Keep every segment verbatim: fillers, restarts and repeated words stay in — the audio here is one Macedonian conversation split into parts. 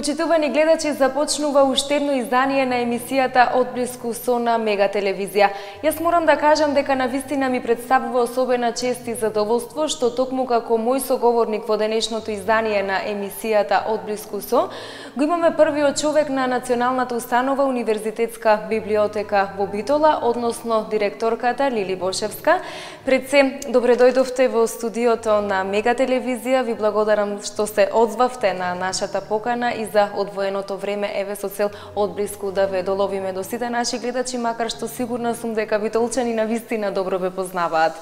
Почитувани гледачи, започнува уште едно издание на емисијата Одблиску со на Мега телевизија. Јас морам да кажам дека навистина ми представува особена чест и задоволство што токму како мој соговорник во денешното издание на емисијата Одблиску со, го имаме првиот човек на Националната установа Универзитетска библиотека во Битола, односно директорката Лили Бошевска. Пред се, добре дојдовте во студиото на Мега телевизија. Ви благодарам што се одзвавте на нашата покана и за одвоеното време, еве со цел одблиску да ве доловиме до сите наши гледачи, макар што сигурна сум дека битолчани навистина добро ве познаваат.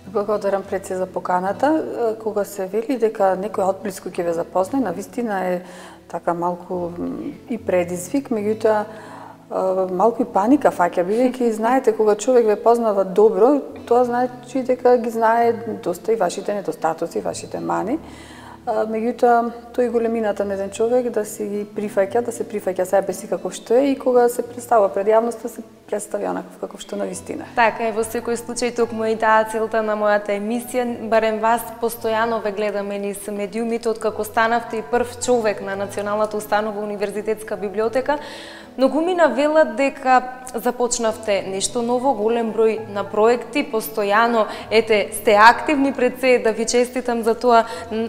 Благодарам пред се за поканата. Кога се вели дека некој одблиску ќе ве запознае, навистина е така малку и предизвик, меѓутоа малку и паника фаќа, бидејќи знаете кога човек ве познава добро, тоа значи дека ги знае доста и вашите недостатоци, вашите мани. Меѓутоа, тој големината на еден човек да си ги прифаќа, да се прифаќа себе си каков што е и кога се представува пред јавноста се представи онаков каков што навистина. Така е, во секој случај токму и таа целта на мојата емисија, барем вас постојано ве гледаме низ медиумите откако станавте и прв човек на Националната установа Универзитетска библиотека. Многумина велат дека започнавте нешто ново, голем број на проекти, постојано ете сте активни, пред се да ви честитам за тоа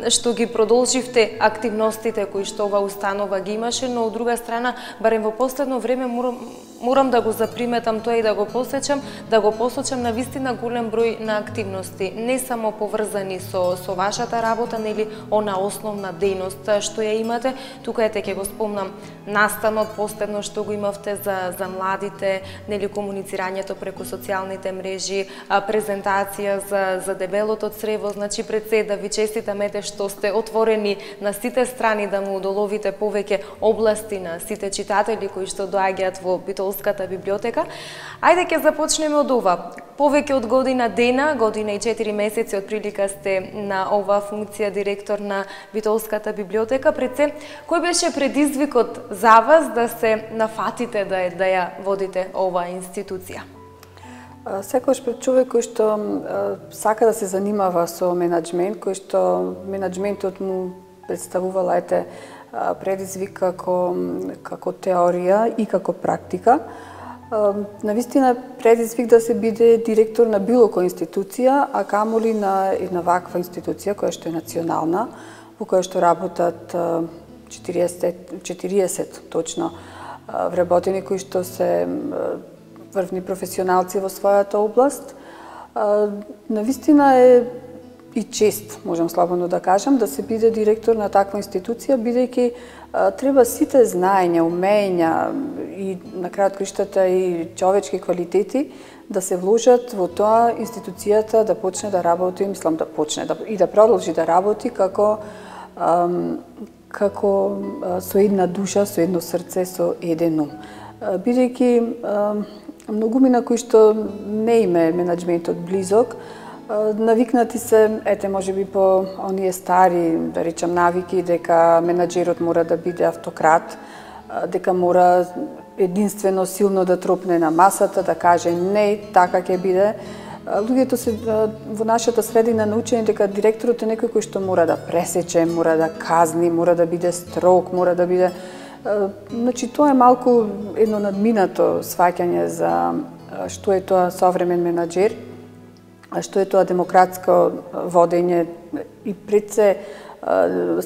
што ги продолживте активностите кои што ова установа ги имаше, но од друга страна, барем во последно време морам, морам да го заприметам тоа и да го посечам, да го посочам на вистина голем број на активности, не само поврзани со со вашата работа, нели она основна дејност што ја имате. Тука ете ќе го спомнам настанот последно што го имавте за за младите, нели комуницирањето преку социјалните мрежи, презентација за за дебелото црево, значи пред се да ви честитам ете што сте отворени на сите страни да му удоловите повеќе области на сите читатели кои што доаѓаат во Битолската библиотека. Ајде ќе започнеме од ова. Повеќе од година дена, година и четири месеци од прилика сте на оваа функција директор на Битолската библиотека. Пред се, кој беше предизвикот за вас да се нафатите да ја, да ја водите оваа институција? Секогаш пред човек кој што сака да се занимава со менаџмент, кој што менаџментот му представувала ете предизвик како, како теорија и како практика. Навистина предизвик да се биде директор на било која институција, а камоли на една ваква институција која што е национална, во која што работат четириесет, четириесет точно вработени кои што се врвни професионалци во својата област. Навистина е и чест, можам слободно да кажам, да се биде директор на таква институција, бидејќи треба сите знаења, умења и на крајот криштата и човечки квалитети да се вложат во тоа институцијата да почне да работи, мислам да почне да, и да продолжи да работи како како со една душа, со едно срце, со еден ум. Бидејќи многумина кои што не име менаџментот близок, навикнати се, ете, може би по оние стари, да речам, навики, дека менаџерот мора да биде автократ, дека мора единствено силно да тропне на масата, да каже не, така ќе биде. Луѓето се во нашата средина научени дека директорот е некој кој што мора да пресече, мора да казни, мора да биде строг, мора да биде... Значи, тоа е малку едно надминато сваќање за што е тоа современ менаџер, што е тоа демократско водење и пред се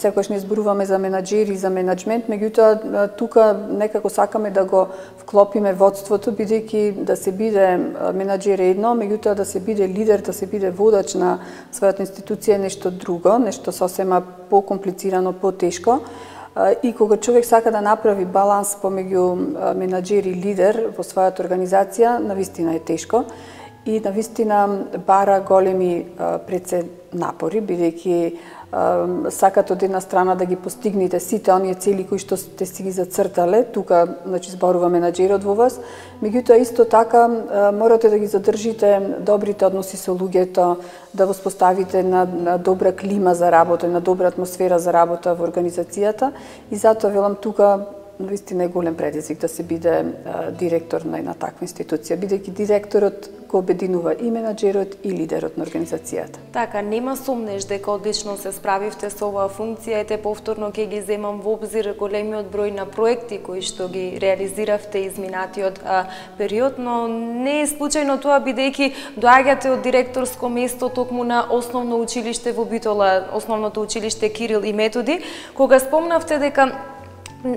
секогаш не зборуваме за менаџери и за менаџмент, меѓутоа тука некако сакаме да го вклопиме водството, бидејќи да се биде менаџер е едно, меѓутоа да се биде лидер, да се биде водач на својата институција е нешто друго, нешто сосема покомплицирано, потешко. И кога човек сака да направи баланс помеѓу менаџер и лидер во својата организација, навистина е тешко и навистина бара големи пред се напори, бидејќи сакат од една страна да ги постигнете сите оние цели кои што сте си ги зацртале, тука значи зборува менаџерот во вас, меѓутоа исто така морате да ги задржите добрите односи со луѓето, да воспоставите на, на добра клима за работа, на добра атмосфера за работа во организацијата и затоа велам тука навистина е голем предизвик да се биде директор на една таква институција, бидејќи директорот го обединува и менаџерот и лидерот на организацијата. Така, нема сомнеш дека одлично се справивте со оваа функција, ете повторно ќе ги земам во обзир големиот број на проекти кои што ги реализиравте изминатиот а, период, но не е случајно тоа бидејќи доаѓате од директорско место токму на основно училиште во Битола, основното училиште Кирил и Методи, кога спомнавте дека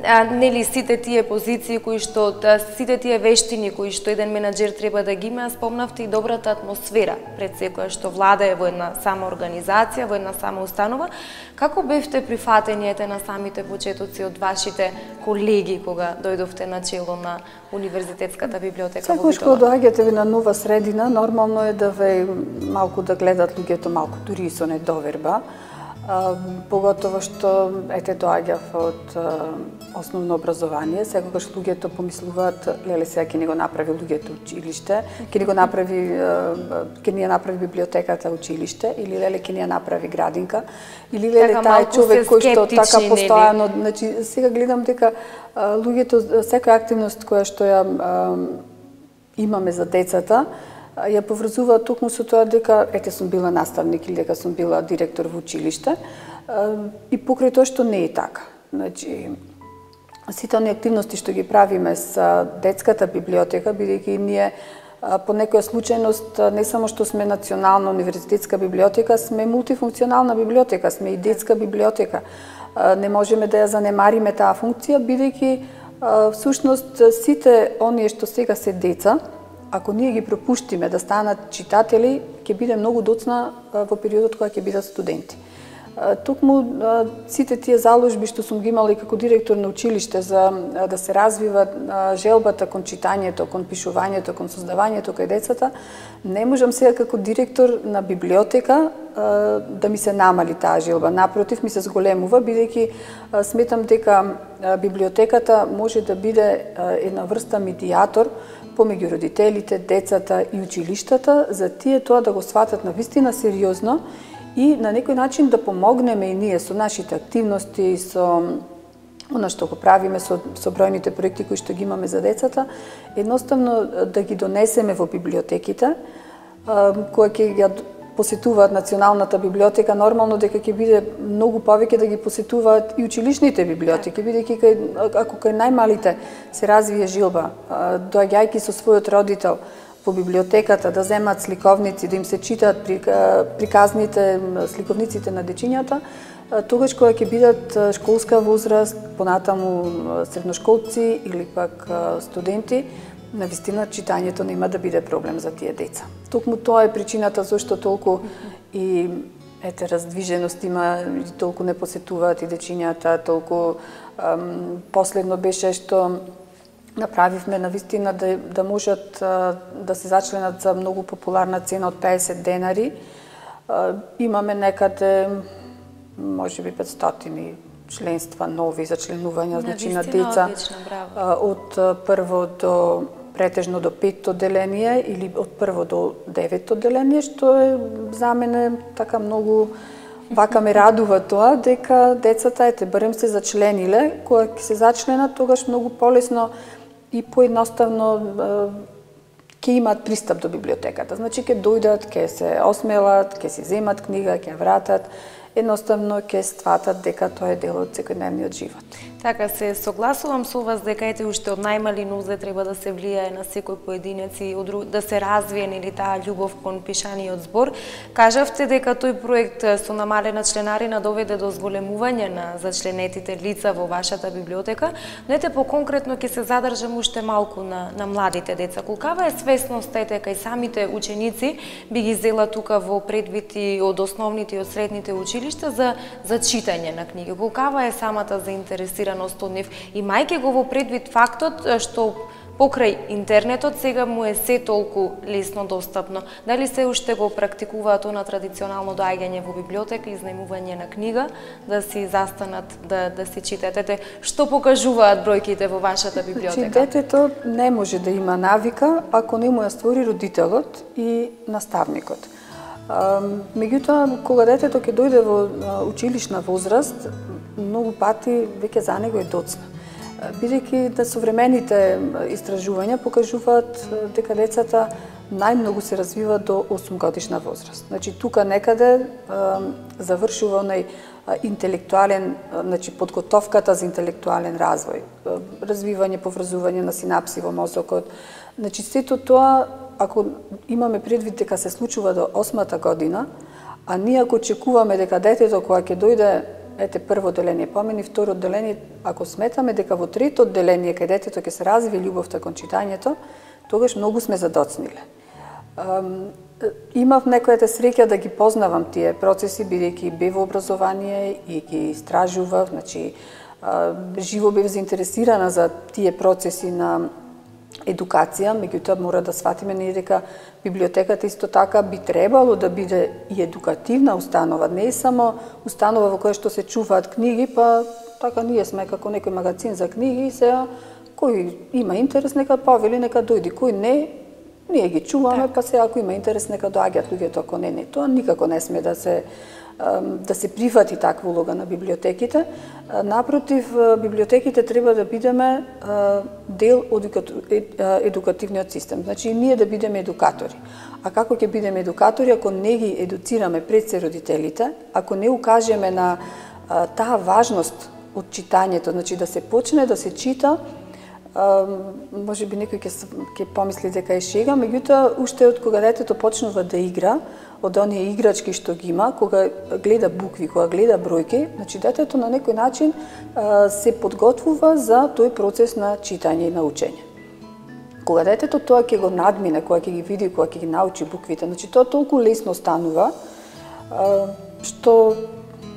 А, нели сите тие позиции кои што да, сите тие вештини кои што еден менаџер треба да ги има, спомнавте и добрата атмосфера пред секоја што владае во една сама организација, во една сама установа. Како бевте прифатени ете на самите почетоци од вашите колеги кога дојдовте на чело на Универзитетската библиотека во Битола? Секогаш кога доаѓате на нова средина, нормално е да ве малку да гледат луѓето малку дури и со недоверба. Uh, поготово што ете доаѓав од uh, основно образование, секогаш луѓето помислуваат леле сега ќе ни го направи луѓето училиште, ќе ни го направи uh, ќе ни ја направи библиотеката училиште или леле ќе ни ја направи градинка или леле така, тај човек кој што така постојано, нели? Значи сега гледам дека uh, луѓето секоја активност која што ја uh, имаме за децата ја поврзува токму со тоа дека ете сум била наставник или дека сум била директор во училиште и покрај тоа што не е така. Значи сите оние активности што ги правиме со детската библиотека, бидејќи ние по некоја случајност не само што сме национална универзитетска библиотека, сме мултифункционална библиотека, сме и детска библиотека. Не можеме да ја занемариме таа функција бидејќи всушност сите оние што сега се деца, ако ние ги пропуштиме да станат читатели, ќе биде многу доцна во периодот кога ќе бидат студенти. Токму сите тие заложби што сум ги имала и како директор на училиште за да се развива желбата кон читањето, кон пишувањето, кон создавањето кај децата, не можам сега како директор на библиотека да ми се намали таа желба. Напротив, ми се зголемува, бидејќи сметам дека библиотеката може да биде една врста медијатор помеѓу родителите, децата и училиштата, за тие тоа да го сватат навистина сериозно и на некој начин да помогнеме и ние со нашите активности, со она што го правиме, со, со бројните проекти кои што ги имаме за децата, едноставно да ги донесеме во библиотеките, кои ќе ја посетуваат Националната библиотека, нормално дека ќе биде многу повеќе да ги посетуваат и училишните библиотеки, бидејќи кај, ако кај најмалите се развие жилба, доаѓајќи со својот родител во библиотеката да земат сликовници, да им се читаат приказните, сликовниците на дечињата, тогаш кога ќе бидат школска возраст, понатаму средношколци или пак студенти, навистина читањето нема да биде проблем за тие деца. Токму тоа е причината зашто толку и ете раздвиженост има, толку не посетуваат и дечињата, толку ам, последно беше што направивме навистина да да можат а, да се зачленат за многу популарна цена од педесет денари. А, имаме некаде можеби петстотини членства нови за членување, значи на деца одлично, од прво до претежно до петто одделение или од прво до деветто одделение, што е за мене така многу вака ме радува тоа дека децата ете барем се зачлениле, кога ќе се зачленат тогаш многу полесно и поедноставно ќе имаат пристап до библиотеката. Значи ќе дојдат, ќе се осмелат, ќе си земат книга, ќе вратат, едноставно ќе стватат дека тоа е дел од секојдневниот живот. Така, се согласувам со вас дека ете уште од најмали нозе треба да се влијае на секој поединец и да се развие нели таа љубов кон пишаниот збор. Кажавте дека тој проект со намалена членарина доведе до зголемување на зачленетите лица во вашата библиотека, но ете поконкретно ќе се задржам уште малку на, на младите деца. Колкава е свесност ете кај самите ученици би ги зела тука во предвид и од основните и од средните училишта за, за читање на книги? Колкава е самата заинтересираност од нив, имајќи го во предвид фактот што покрај интернетот сега му е се толку лесно достапно? Дали се уште го практикуваат она традиционално доаѓање во библиотека, изнајмување на книга, да си застанат, да, да си читаат? Ете, што покажуваат бројките во вашата библиотека? Значи, детето не може да има навика ако не му ја створи родителот и наставникот. Меѓутоа, кога детето ќе дојде во училишна возраст, многу пати веќе за него е доцна. бидејќи да современите истражувања покажуваат дека децата најмногу се развиваат до осум годишна возраст. Значи тука некаде завршува онај интелектуален, значи подготовката за интелектуален развој, развивање, поврзување на синапси во мозокот. Значи сето тоа, ако имаме предвид дека се случува до осмата година, а ние ако очекуваме дека детето кога ќе дојде, ете прво одделение помени, второ одделение, ако сметаме дека во трето одделение кај детето ќе се развие љубовта кон читањето, тогаш многу сме задоцниле. Имав некојата среќа да ги познавам тие процеси, бидејќи бев во образование и ги истражував, значи живо бев заинтересирана за тие процеси на едукација, меѓутоа мора да сватиме ние дека библиотеката исто така би требало да биде и едукативна установа, не е само установа во која што се чуваат книги, па така ние сме како некој магазин за книги и сега кој има интерес нека повели, нека дојди, кој не, ние ги чуваме, па сега ако има интерес нека доаѓаат луѓето, ако не, не, тоа никако не сме да се да се прифати таква улога на библиотеките. Напротив, библиотеките треба да бидеме дел од едукативниот систем. Значи, ние да бидеме едукатори. А како ќе бидеме едукатори ако не ги едуцираме пред се родителите, ако не укажеме на таа важност од читањето, значи да се почне да се чита, може би некој ќе ќе помисли дека е шега, меѓутоа уште од кога детето почнува да игра, од оние играчки што ги има, кога гледа букви, кога гледа бројки, значи детето на некој начин се подготвува за тој процес на читање и на учење. Кога детето тоа ќе го надмине, кога ќе ги види, кога ќе ги научи буквите, значи тоа толку лесно станува, што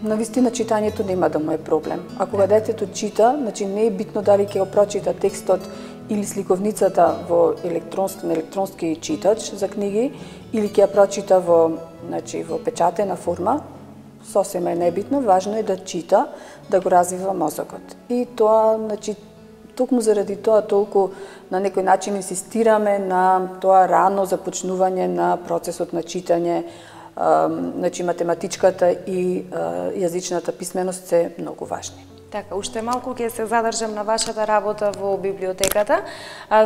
навистина читањето нема да му е проблем. А кога детето чита, значи не е битно дали ќе го прочита текстот или сликовницата во електронски, електронски читач за книги, или ќе ја прочита во, значи, во печатена форма, сосема е небитно, важно е да чита, да го развива мозокот. И тоа, значи, токму заради тоа толку на некој начин инсистираме на тоа рано започнување на процесот на читање. Значи, математичката и јазичната писменост се многу важни. Така, уште малку ќе се задржам на вашата работа во библиотеката.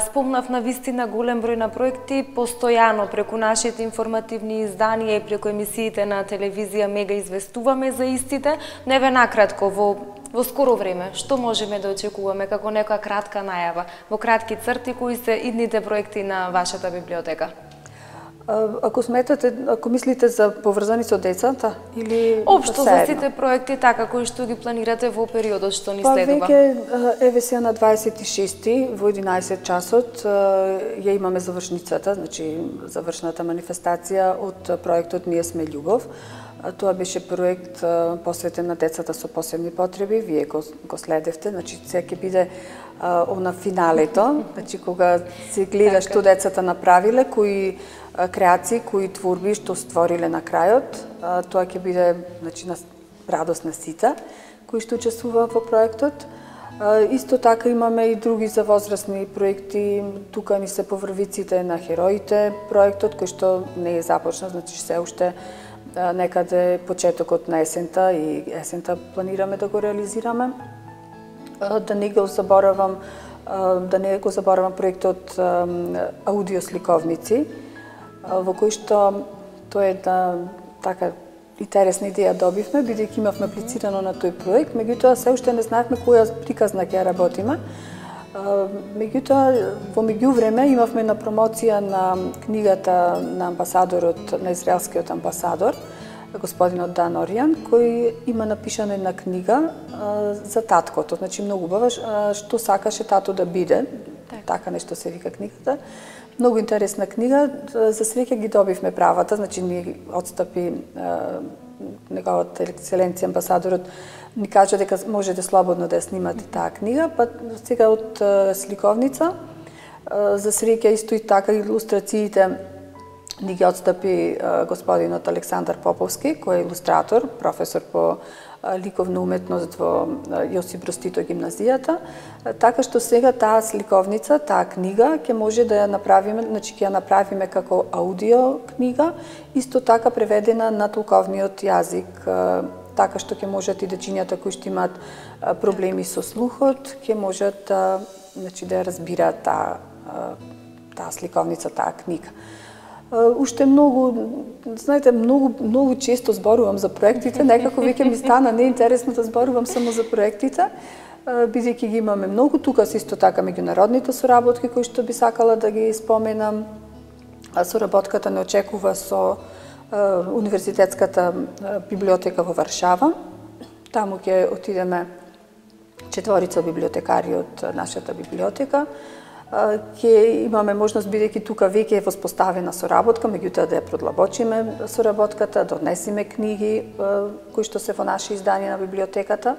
Спомнав на вистина голем број на проекти, постојано преку нашите информативни изданија и преку емисиите на телевизија Мега известуваме за истите. Не ве накратко, во, во скоро време, што можеме да очекуваме како некоја кратка најава, во кратки црти, кои се идните проекти на вашата библиотека? Ако сметате, ако мислите за поврзани со децата или општо за сите проекти така кои што ги планирате во периодот што ни следува? Па веќе еве сега на дваесет и шести во единаесет часот ја имаме завршницата, значи завршната манифестација од проектот Ние сме љубов. Тоа беше проект посветен на децата со посебни потреби, вие го, го следевте, значи сега ќе биде она финалето, значи кога се гледа што децата направиле, кои креации, кои творби што створиле на крајот, тоа ќе биде, значи, на радост на сите кои што учествуваат во проектот. Исто така имаме и други за возрастни проекти, тука ни се поврвиците на хероите проектот кој што не е започнат, значи се уште некаде почетокот на есента и есента планираме да го реализираме. Да не го заборавам, да не го заборавам проектот аудиосликовници, во кој што тоа е да така интересна идеја добивме, бидејќи имавме аплицирано на тој проект, меѓутоа се уште не знаевме која приказна ќе ја работиме. Меѓутоа, во меѓувреме имавме на промоција на книгата на амбасадорот, на израелскиот амбасадор, господинот Дан Оријан, кој има напишана една книга за таткото, значи многу убава, што сакаше тато да биде, така нешто се вика книгата. Многу интересна книга, за среќа ги добивме правата, значи ни отстапи неговата екселенција амбасадорот, ни кажа дека можете слободно да ја снимате таа книга, па сега од сликовница, за среќа исто и така илустрациите ни ги отстапи господинот Александар Поповски, кој е илустратор, професор по ликовна уметност во Јосип Брз Тито гимназијата, така што сега таа сликовница, таа книга ќе може да ја направиме, значи ќе ја направиме како аудио книга, исто така преведена на толковниот јазик, така што ќе можат и дечињата кои што имаат проблеми со слухот, ќе можат да, значи, да разбираат таа таа сликовница, таа книга. Уште многу, знаете, многу многу често зборувам за проектите, некако веќе ми стана неинтересно да зборувам само за проектите, бидејќи ги имаме многу. Тука се исто така меѓународните соработки кои што би сакала да ги споменам. Соработката не очекува со Универзитетската библиотека во Варшава. Таму ќе отидеме четворица библиотекари од нашата библиотека. Ќе имаме можност, бидејќи тука веќе е воспоставена соработка, меѓутоа да ја продлабочиме соработката, да однесеме книги кои што се во наши изданија на библиотеката.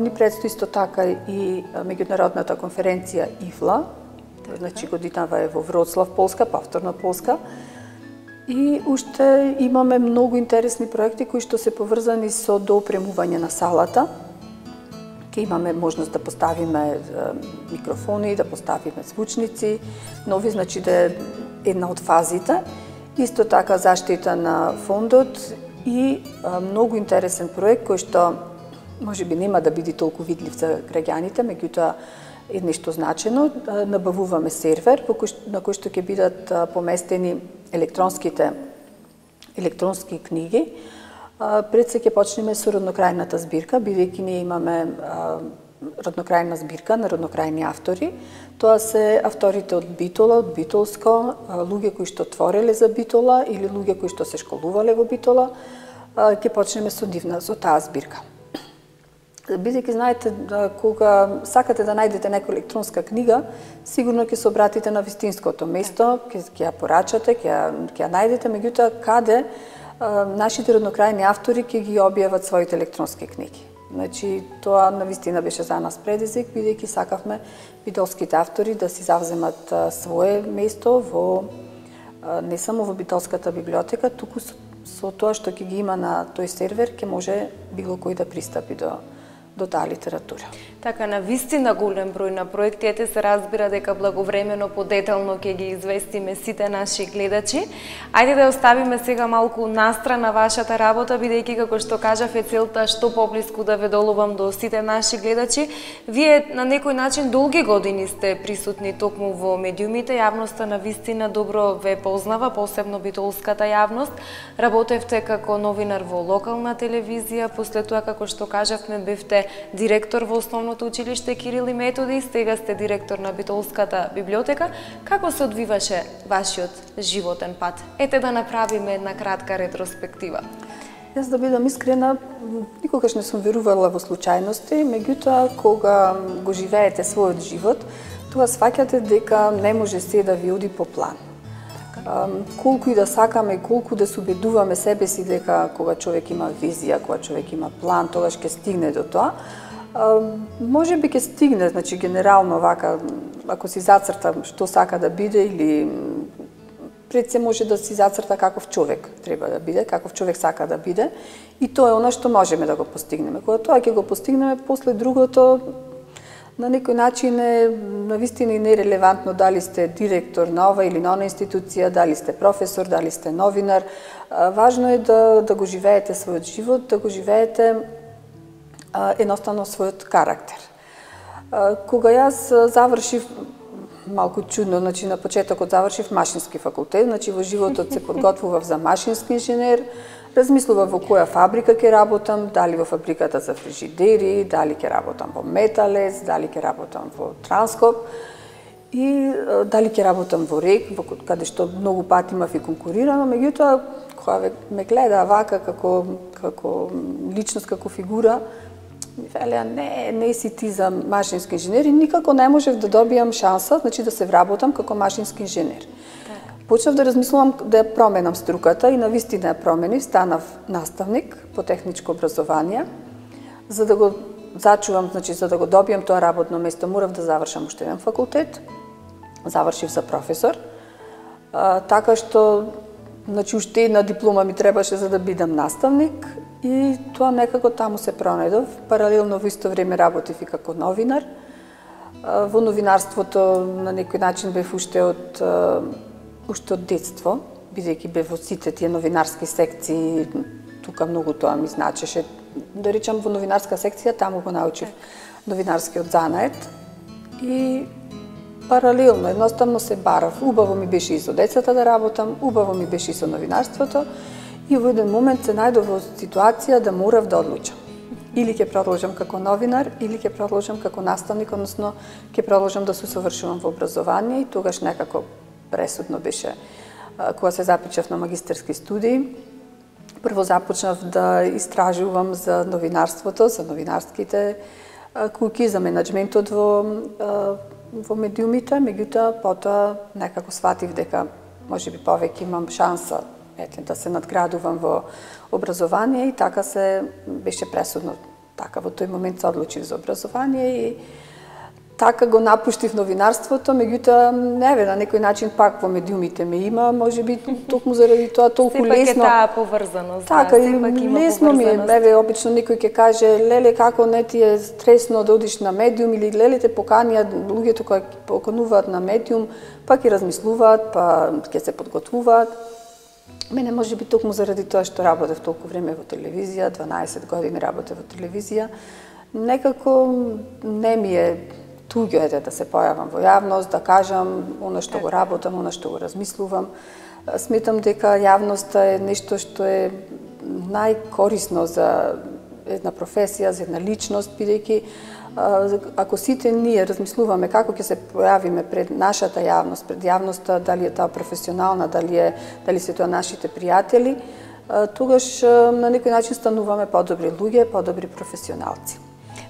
Ни предстои исто така и меѓународната конференција ИФЛА, значи годинава е во Вроцлав, Полска, повторно Полска. И уште имаме многу интересни проекти кои што се поврзани со доопремување на салата. Ке имаме можност да поставиме микрофони, да поставиме звучници, нови, значи да е една од фазите. Исто така заштита на фондот и многу интересен проект кој што можеби нема да биде толку видлив за граѓаните, меѓутоа е нешто значено. Набавуваме сервер на кој што ќе бидат поместени електронските електронски книги. Пред се ќе почнеме со роднокрајната збирка, бидејќи ние имаме роднокрајна збирка на роднокрајни автори. Тоа се авторите од Битола, од Битолско, луѓе кои што твореле за Битола или луѓе кои што се школувале во Битола. Ќе почнеме со нивна, со таа збирка. Бидејќи знаете, кога сакате да најдете некоја електронска книга, сигурно ќе се обратите на вистинското место, ќе ќе ја порачате, ќе ја, ќе ја најдете, меѓутоа каде нашите роднокрајни автори ќе ги објават своите електронски книги. Значи, тоа навистина беше за нас предизвик, бидејќи сакавме битолските автори да си завземат свое место во не само во Битолската библиотека, туку со, со тоа што ќе ги има на тој сервер, ќе може било кој да пристапи до до таа литература. Така, на вистина голем број на проекти, ете се разбира дека благовремено, подетално ќе ги известиме сите наши гледачи. Ајде да оставиме сега малку настрана вашата работа, бидејќи како што кажав е целта што поблиску да ве доловам до сите наши гледачи. Вие на некој начин долги години сте присутни токму во медиумите, јавноста на вистина добро ве познава, посебно битолската јавност. Работевте како новинар во локална телевизија, после тоа како што кажавме бевте директор во Основното училиште Кирил и Методи, сега сте директор на Битолската библиотека. Како се одвиваше вашиот животен пат? Ете да направиме една кратка ретроспектива. Јас да бидам искрена, никогаш не сум верувала во случајности, меѓутоа кога го живеете својот живот, тоа сваќате дека не може се да ви оди по план. Колку и да сакаме и колку да се убедуваме себе си дека кога човек има визија, кога човек има план, тогаш ќе стигне до тоа. Може би ќе стигне, значи генерално вака, ако си зацрта што сака да биде или пред се може да си зацрта каков човек треба да биде, каков човек сака да биде и тоа е она што можеме да го постигнеме. Кога тоа ќе го постигнеме, после другото на некој начин е навистина и нерелевантно дали сте директор на ова или на она институција, дали сте професор, дали сте новинар. Важно е да, да го живеете својот живот, да го живеете а, едноставно својот карактер. А, кога јас завршив, малку чудно, значи на почетокот завршив машински факултет, значи во животот се подготвував за машински инженер, размислував во која фабрика ќе работам, дали во фабриката за фрижидери, дали ќе работам во Металес, дали ќе работам во Транскоп и дали ќе работам во РЕК, во каде што многу пати имав и конкурирано, меѓутоа кога ме гледа вака како како личност, како фигура, ми велеа не, не си ти за машински инженер и никако не можев да добијам шанса, значи да се вработам како машински инженер. Почнав да размислувам да ја променам струката и навистина ја променив, станав наставник по техничко образование. За да го зачувам, значи за да го добијам тоа работно место, морав да завршам уште еден факултет. Завршив за професор. А, така што значи уште една диплома ми требаше за да бидам наставник и тоа некако таму се пронајдов. Паралелно во исто време работев и како новинар. А, во новинарството на некој начин бев уште од уште од детство, бидејќи бев во сите тие новинарски секции, тука многу тоа ми значеше, да речам во новинарска секција, таму го научив новинарскиот занает и паралелно, едноставно се барав. Убаво ми беше и со децата да работам, убаво ми беше и со новинарството и во еден момент се најдов во ситуација да морав да одлучам. Или ќе продолжам како новинар, или ќе продолжам како наставник, односно ќе продолжам да се усовршувам во образование и тогаш некако пресудно беше кога се запишав на магистерски студии. Прво започнав да истражувам за новинарството, за новинарските куки, за менеджментот во во медиумите, меѓутоа потоа некако сватив дека можеби повеќе имам шанса ете да се надградувам во образование и така се беше пресудно. Така во тој момент се одлучив за образование и така го напуштив новинарството, меѓутоа еве на некој начин пак во медиумите ме има, можеби токму заради тоа толку лесно. Сепак е таа поврзаност. Така, и лесно ми е, еве обично некој ќе каже леле како не ти е стресно да одиш на медиум или леле те поканија луѓето кои покануваат на медиум, па ќе размислуваат, па ќе се подготвуваат. Мене можеби токму заради тоа што работев толку време во телевизија, дванаесет години работев во телевизија, некако не ми е туѓо е да се појавам во јавност, да кажам оно што го работам, оно што го размислувам. Сметам дека јавноста е нешто што е најкорисно за една професија, за една личност, бидејќи ако сите ние размислуваме како ќе се појавиме пред нашата јавност, пред јавноста, дали е таа професионална, дали е дали се тоа нашите пријатели, тогаш на некој начин стануваме подобри луѓе, подобри професионалци.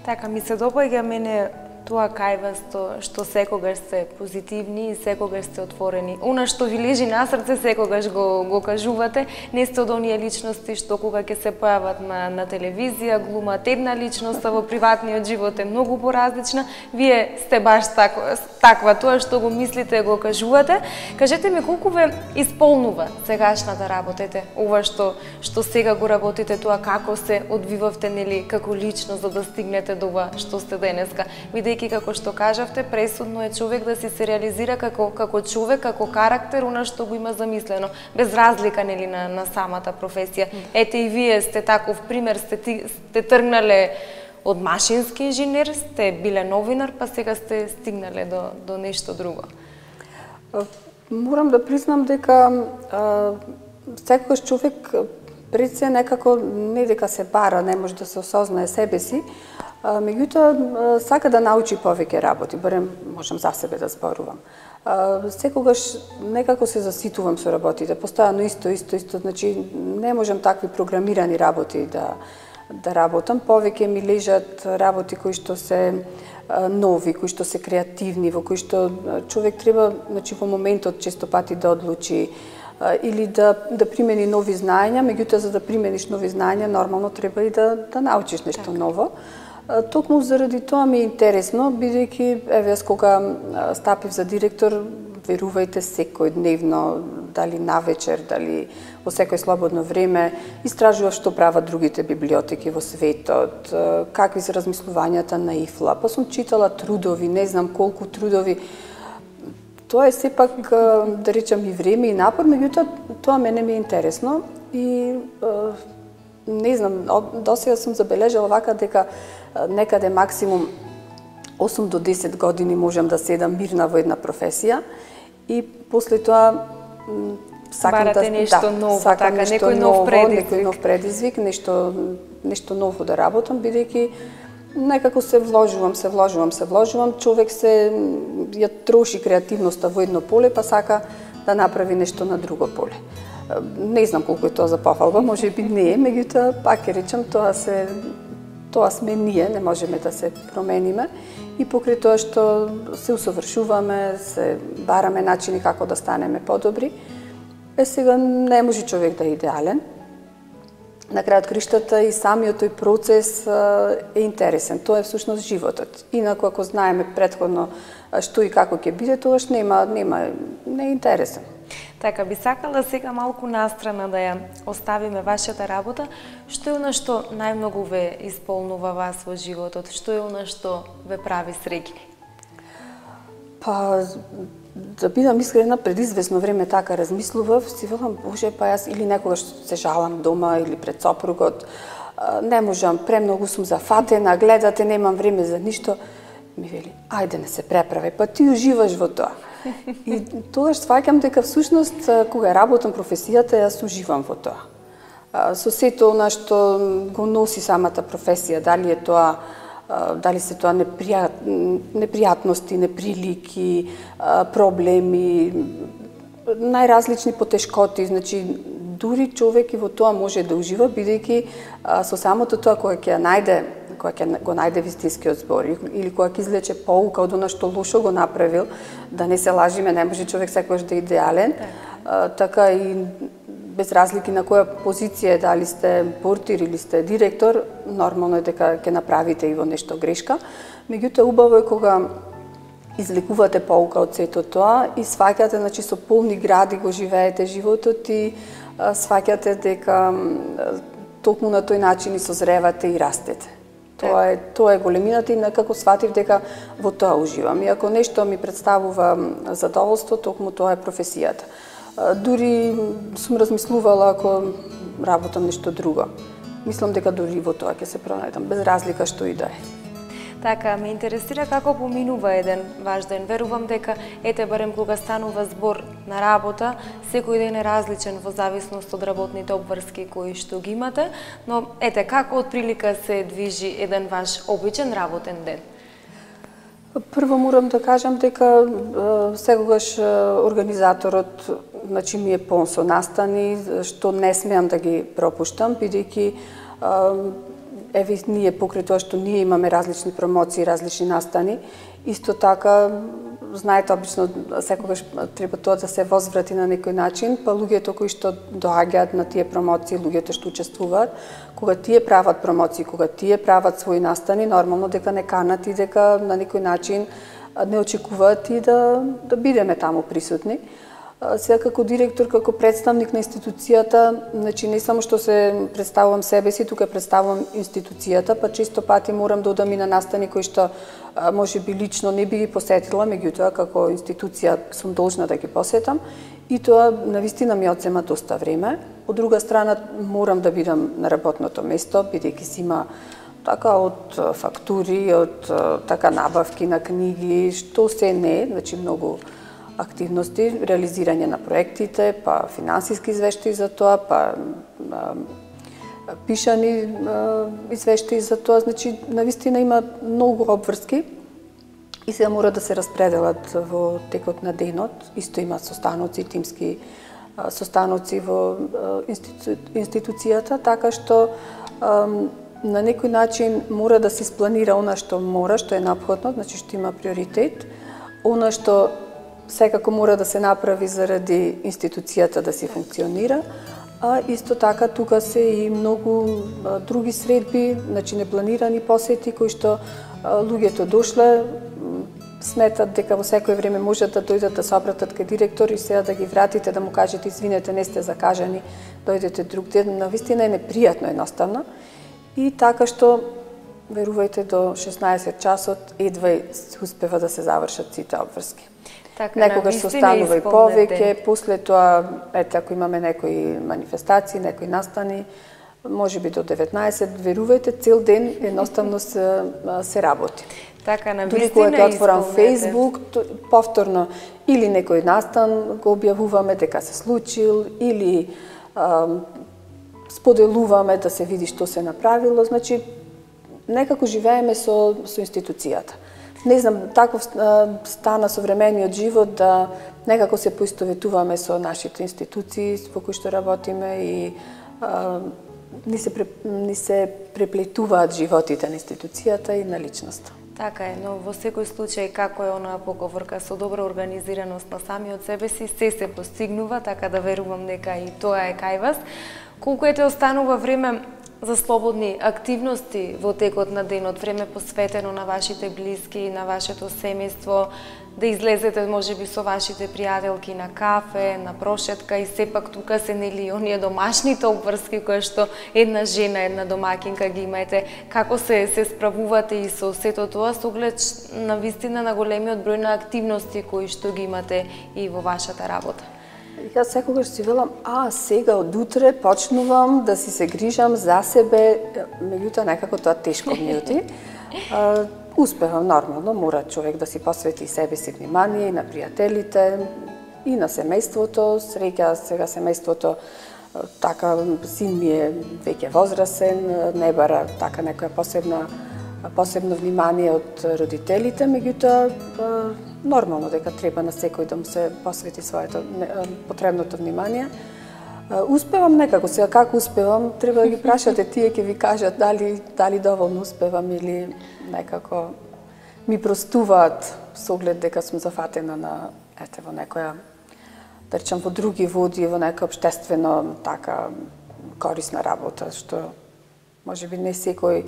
Така ми се допаѓа мене тоа кај вас што секогаш сте позитивни и секогаш сте отворени. Она што ви лежи на срце секогаш го го кажувате, не сте од оние личности што кога ќе се појават на на телевизија глумат една личност, а во приватниот живот е многу поразлична. Вие сте баш таква, таква тоа што го мислите, го кажувате. Кажете ми колку ве исполнува сегашната работа, ова што што сега го работите, тоа како се одвивавте нели како личност за да стигнете до ова што сте денеска. Бидејќи како што кажавте, пресудно е човек да си се реализира како како човек, како карактер, она што го има замислено, без разлика нели на на самата професија. Ете и вие сте таков пример, сте сте тргнале од машински инженер, сте биле новинар, па сега сте стигнале до до нешто друго. Морам да признам дека секогаш човек пред се некако не дека се бара, не може да се осознае себе си, меѓутоа сака да научи повеќе работи, барем можам за себе да зборувам. Секогаш некако се заситувам со работите, постојано исто, исто, исто, значи не можам такви програмирани работи да да работам, повеќе ми лежат работи кои што се нови, кои што се креативни, во кои што човек треба, значи во моментот често пати да одлучи или да да примени нови знаења, меѓутоа за да примениш нови знаења нормално треба и да да научиш нешто так. ново. Токму заради тоа ми е интересно, бидејќи еве јас кога стапив за директор, верувајте секојдневно, дали навечер, дали во секој слободно време, истражував што прават другите библиотеки во светот, какви се размислувањата на ИФЛА, па сум читала трудови, не знам колку трудови. Тоа е сепак, да речам, и време и напор, меѓутоа тоа мене ми е интересно и не знам, досега сум забележала вака дека некаде максимум осум до десет години можам да седам мирна во една професија и после тоа сакам барате да нешто да, ново, сакам така, нешто некој нов ново, предизвик, некој нов предизвик, нешто нешто ново да работам, бидејќи некако се вложувам, се вложувам, се вложувам, човек се ја троши креативноста во едно поле, па сака да направи нешто на друго поле. Не знам колку е тоа за пофалба, може би не е, меѓутоа пак ќе речам тоа се тоа сме ние, не можеме да се промениме и покрај тоа што се усовршуваме, се бараме начини како да станеме подобри. Е сега не може човек да е идеален. На крајот криштата и самиот тој процес е интересен. Тоа е всушност животот. Инаку ако знаеме претходно што и како ќе биде, тогаш нема нема не е интересен. Така, би сакала сега малку настрана да ја оставиме вашата работа. Што е она што најмногу ве исполнува вас во животот? Што е она што ве прави среќни? Па, да бидам искрена, пред известно време така размислував, си велам, боже, па јас или некогаш се жалам дома или пред сопругот, не можам, премногу сум зафатена, гледате, немам време за ништо. Ми вели, ајде не се преправај, па ти уживаш во тоа. И тогаш сваќам дека всушност кога работам професијата, јас уживам во тоа. Со сето она што го носи самата професија, дали е тоа дали се тоа непријат, непријатности, неприлики, проблеми, најразлични потешкоти, значи дури човек и во тоа може да ужива, бидејќи со самото тоа кога ќе најде, кога ќе го најде вистинскиот збор или кога ќе извлече поука од она што лошо го направил, да не се лажиме, не може човек секогаш да е идеален, така и без разлики на која позиција е, дали сте портир или сте директор, нормално е дека ќе направите и во нешто грешка. Меѓутоа убаво е кога извлекувате поука од сето тоа и сваќате, значи со полни гради го живеете животот и сваќате дека токму на тој начин и созревате и растете. Тоа е тоа е големината и некако сватив дека во тоа уживам. И ако нешто ми представува задоволство, токму тоа е професијата. Дури сум размислувала ако работам нешто друго. Мислам дека дури во тоа ќе се пронајдам, без разлика што и да е. Така, ме интересира како поминува еден ваш ден. Верувам дека, ете, барем кога станува збор на работа, секој ден е различен во зависност од работните обврски кои што ги имате, но ете, како отприлика се движи еден ваш обичен работен ден? Прво морам да кажам дека секогаш организаторот, значи, ми е полн со настани, што не смеам да ги пропуштам, бидејќи еве ние покрај тоа што ние имаме различни промоции, различни настани, исто така знаете обично секогаш треба тоа да се возврати на некој начин, па луѓето кои што доаѓаат на тие промоции, луѓето што учествуваат, кога тие прават промоции, кога тие прават своји настани, нормално дека не канат и дека на некој начин не очекуваат и да да бидеме таму присутни. Сега како директор, како представник на институцијата, значи не само што се представувам себе си, тука представувам институцијата, па често пати морам да одам и на настани кои што може би лично не би ги посетила, меѓутоа како институција сум должна да ги посетам и тоа навистина ми одзема доста време. Од друга страна морам да бидам на работното место, бидејќи си има така од фактури, од така набавки на книги, што се не, значи многу активности, реализирање на проектите, па финансиски извештаи за тоа, па а, пишани а, извештаи за тоа, значи навистина има многу обврски и се мора да се распределат во текот на денот. Исто има состаноци, тимски а, состаноци во а, институ, институцијата, така што а, на некој начин мора да се спланира она што мора, што е неопходно, значи што има приоритет, она што секако мора да се направи заради институцијата да си функционира, а исто така тука се и многу а, други средби, значи непланирани посети кои што а, луѓето дошле, сметат дека во секој време можат да дојдат да се обратат кај директор и сега да ги вратите, да му кажете извинете, не сте закажани, дојдете друг ден, навистина е непријатно едноставно. И така што верувајте до шеснаесет часот едва успева да се завршат сите обврски. Така, некогаш се останува и повеќе, после тоа, ете, ако имаме некои манифестации, некои настани, може би до деветнаесет, верувајте, цел ден едноставно се, се работи. Така, на дури кога отворам Facebook, повторно или некој настан го објавуваме дека се случил, или а, споделуваме да се види што се направило, значи некако живееме со, со институцијата. Не знам, таков стана современиот живот да некако се поистоветуваме со нашите институции во кои што работиме и а, ни, се, ни се преплетуваат животите на институцијата и на личноста. Така е, но во секој случај, како е онаа поговорка, со добра организираност на самиот себе си, се се постигнува, така да верувам дека и тоа е кај вас. Колку ете останува време за слободни активности во текот на денот, време посветено на вашите блиски, на вашето семејство, да излезете можеби со вашите пријателки на кафе, на прошетка и сепак тука се нели оние домашните обврски кои што една жена, една домакинка ги имаете. Како се се справувате и со сето тоа со оглед на вистина на големиот број на активности кои што ги имате и во вашата работа? Јас секогаш си велам, а, сега од утре почнувам да си се грижам за себе, меѓутоа некако тоа тешко ми оти. Успевам нормално, мора човек да си посвети себе си внимание, и на пријателите, и на семејството. Среќа сега семејството, така, син ми е веќе возрасен, не бара така некоја посебна посебно внимание од родителите, меѓутоа нормално дека треба на секој да му се посвети своето потребното внимание. Успевам некако, сега како успевам, треба да ги прашате тие, ќе ви кажат дали дали доволно успевам или некако ми простуваат со оглед дека сум зафатена на ете во некоја, да речам, во други води, во некоја општествено така корисна работа, што можеби не секој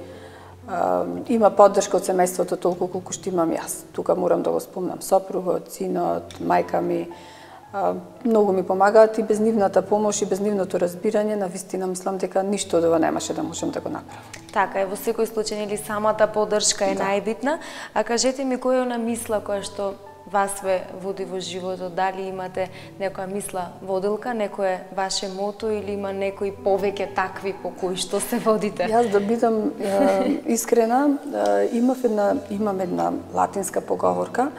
Uh, има поддршка од семејството толку колку што имам јас. Тука морам да го спомнам сопругот, синот, мајка ми. Uh, многу ми помагаат и без нивната помош и без нивното разбирање, навистина мислам дека ништо од ова немаше да можам да го направам. Така е, во секој случај нели самата поддршка е да. најбитна. А кажете ми која е она мисла која што вас ве води во животот, дали имате некоја мисла водилка, некое ваше мото или има некои повеќе такви по кои што се водите? Јас да бидам е, искрена, е, имав една, имам една латинска поговорка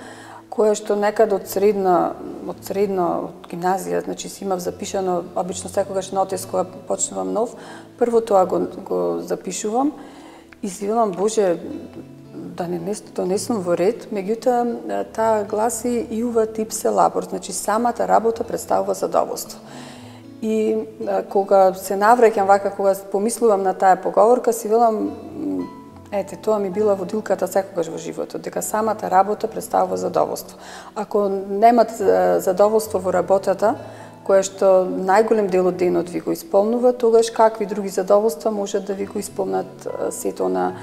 која што некад од средна, од средно, од гимназија, значи си имав запишано, обично секогаш нотес кога почнувам нов, прво тоа го, го запишувам и си велам, Боже, да не донесам во ред, меѓутоа таа гласи иува типсе лабор, значи самата работа представува задоволство. И а, кога се навраќам вака, кога помислувам на таа поговорка, си велам, ете, тоа ми била водилката секогаш во животот, дека самата работа представува задоволство. Ако немате задоволство во работата, кое што најголем дел од денот ви го исполнува, тогаш какви други задоволства можат да ви го исполнат сето на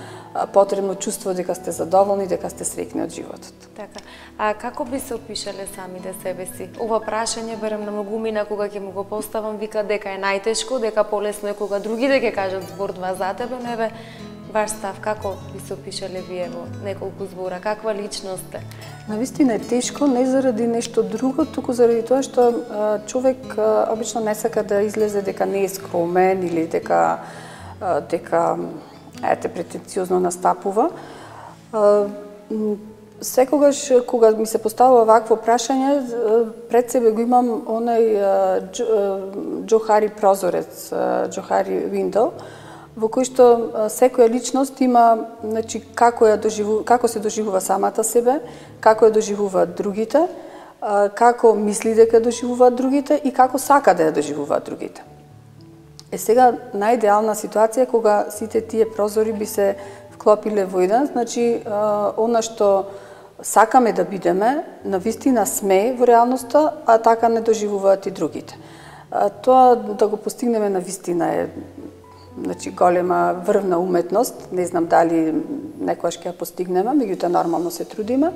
потребно чувство дека сте задоволни, дека сте среќни од животот. Така. А како би се опишале самите себе си? Ова прашање берем на многумина кога ќе му го поставам, вика дека е најтешко, дека полесно е кога другите ќе кажат збор два за тебе, но еве ваш став, како би се опишале вие во неколку збора, каква личност сте? Навистина е тешко, не заради нешто друго, туку заради тоа што а, човек а, обично не сака да излезе дека не е скромен или дека а, дека ете претенциозно настапува. А, секогаш кога ми се поставува вакво прашање, пред себе го имам онај Џохари прозорец, Џохари window, во кој што секоја личност има, значи, како ја доживува, како се доживува самата себе, како ја доживуваат другите, како мисли дека доживуваат другите и како сака да ја доживуваат другите. Е сега најидеална ситуација кога сите тие прозори би се вклопиле во еден, значи она што сакаме да бидеме, навистина сме во реалноста, а така не доживуваат и другите. Тоа да го постигнеме навистина е, значи, голема врвна уметност, не знам дали некојаш ќе ја постигнеме, меѓутоа нормално се трудиме.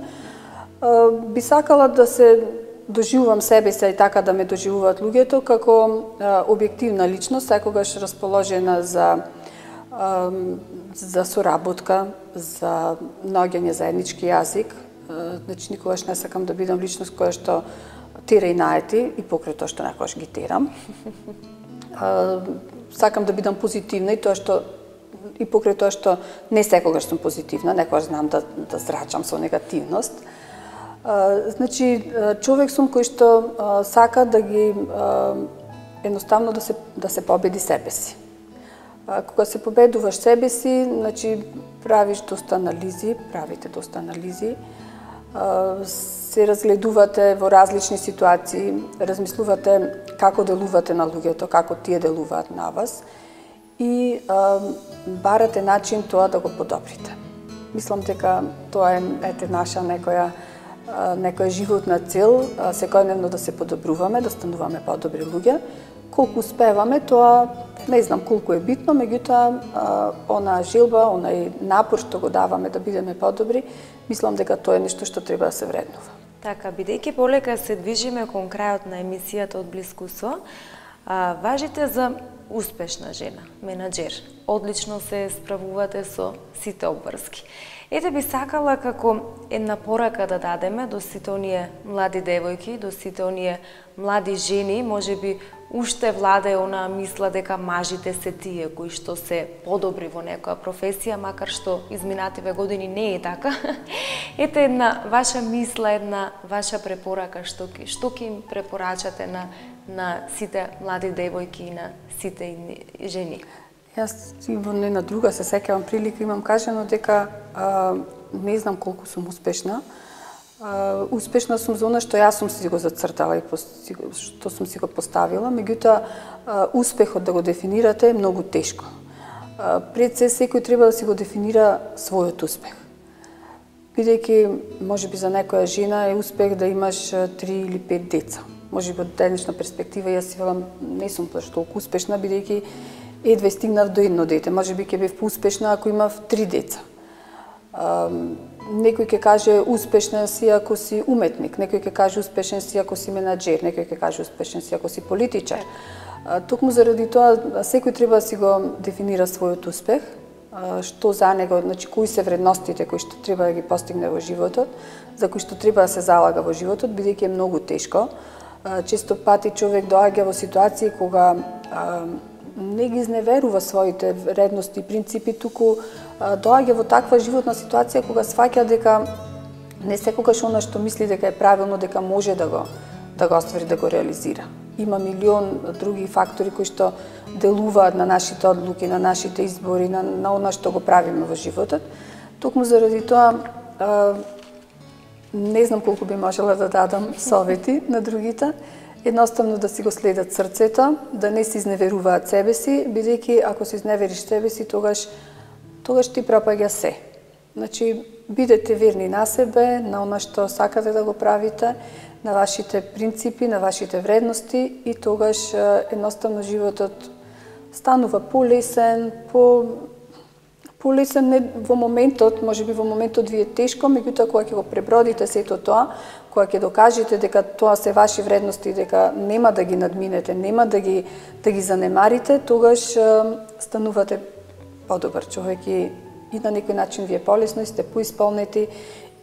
Би сакала да се доживувам себе се и така да ме доживуваат луѓето како објективна личност, секогаш расположена за за соработка, за наоѓање заеднички јазик. Значи никогаш не сакам да бидам личност која што тера и наети и покрај тоа што некогаш ги терам. Сакам да бидам позитивна и тоа што и покрај тоа што не секогаш сум позитивна, некогаш знам да да зрачам со негативност. Значи човек сум кој што сака да ги едноставно да се да се победи себе си. Кога се победуваш себе си, значи правиш доста анализи, правите доста анализи, се разгледувате во различни ситуации, размислувате како делувате на луѓето, како тие делуваат на вас и а, барате начин тоа да го подобрите. Мислам дека тоа е ете наша некоја а, некоја животна цел, а, секојдневно да се подобруваме, да стануваме подобри луѓе. Колку успеваме, тоа не знам колку е битно, меѓутоа она желба, онај напор што го даваме да бидеме подобри, мислам дека тоа е нешто што треба да се вреднува. Така, бидејќи полека се движиме кон крајот на емисијата од Блискусо, а, важите за успешна жена, менаџер. Одлично се справувате со сите обврски. Ете би сакала како една порака да дадеме до сите оние млади девојки, до сите оние млади жени, можеби уште владае онаа мисла дека мажите се тие кои што се подобри во некоја професија, макар што изминативе години не е така. Ете една ваша мисла, една ваша препорака, што ки што ки им препорачате на на сите млади девојки и на сите жени. Јас и во една друга се сеќавам прилика имам кажано дека а, не знам колку сум успешна. Uh, успешна сум за она што јас сум си го зацртала и што сум си го поставила, меѓутоа uh, успехот да го дефинирате е многу тешко. Uh, пред се секој треба да си го дефинира својот успех. Бидејќи можеби за некоја жена е успех да имаш три или пет деца. Можеби од денешна перспектива јас си велам не сум баш толку успешна бидејќи едве стигнав до едно дете. Можеби ќе бев поуспешна ако имав три деца. Uh, Некој ќе каже успешен си ако си уметник, некој ќе каже успешен си ако си менаџер, некој ќе каже успешен си ако си политичар. Токму заради тоа секој треба да си го дефинира својот успех, што за него, значи кои се вредностите кои што треба да ги постигне во животот, за кои што треба да се залага во животот, бидејќи е многу тешко. Често пати човек доаѓа во ситуации кога не ги изневерува своите вредности и принципи, туку доаѓа во таква животна ситуација кога сфаќа дека не секогаш она што мисли дека е правилно, дека може да го да го оствари, да го реализира. Има милион други фактори кои што делуваат на нашите одлуки, на нашите избори, на, на она што го правиме во животот. Токму заради тоа а, не знам колку би можела да дадам совети на другите. Едноставно да си го следат срцето, да не се изневеруваат себе си, бидејќи ако се изневериш себе си, тогаш тогаш ти пропаѓа се. Значи, бидете верни на себе, на она што сакате да го правите, на вашите принципи, на вашите вредности и тогаш едноставно животот станува полесен, по полесен не во моментот, можеби во моментот ви е тешко, меѓутоа кога ќе го пребродите сето тоа, кога ќе докажете дека тоа се ваши вредности, дека нема да ги надминете, нема да ги да ги занемарите, тогаш станувате подобар човек и, и на некој начин ви е полесно и сте поисполнети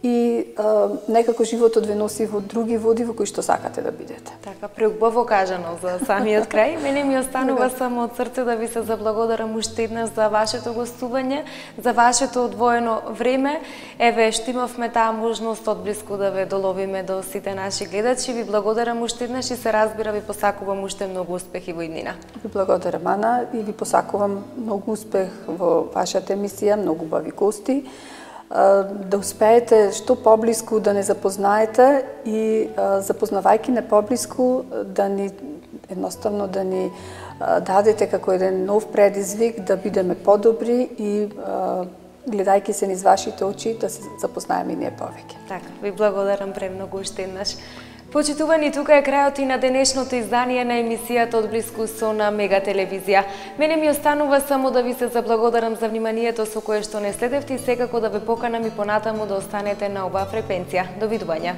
и а, некако животот ве носи во други води во кои што сакате да бидете. Така, преубаво кажано за самиот крај. Мене ми останува само од срце да ви се заблагодарам уште еднаш за вашето гостување, за вашето одвоено време. Еве, што имавме таа можност одблиску да ве доловиме до сите наши гледачи. Ви благодарам уште еднаш и се разбира ви посакувам уште многу успехи во иднина. Ви благодарам, Ана, и ви посакувам многу успех во вашата емисија, многу убави гости. Да успеете што поблиску да не запознаете и запознавајќи не поблиску да ни едноставно да ни дадете како еден нов предизвик да бидеме подобри и гледајќи се низ вашите очи да се запознаеме и ние повеќе. Така, ви благодарам премногу уште еднаш. Почитувани, тука е крајот и на денешното издание на емисијата Одблиску со на Мега телевизија. Мене ми останува само да ви се заблагодарам за вниманието со кое што не следевте и секако да ве поканам и понатаму да останете на оваа фреквенција. Довидување.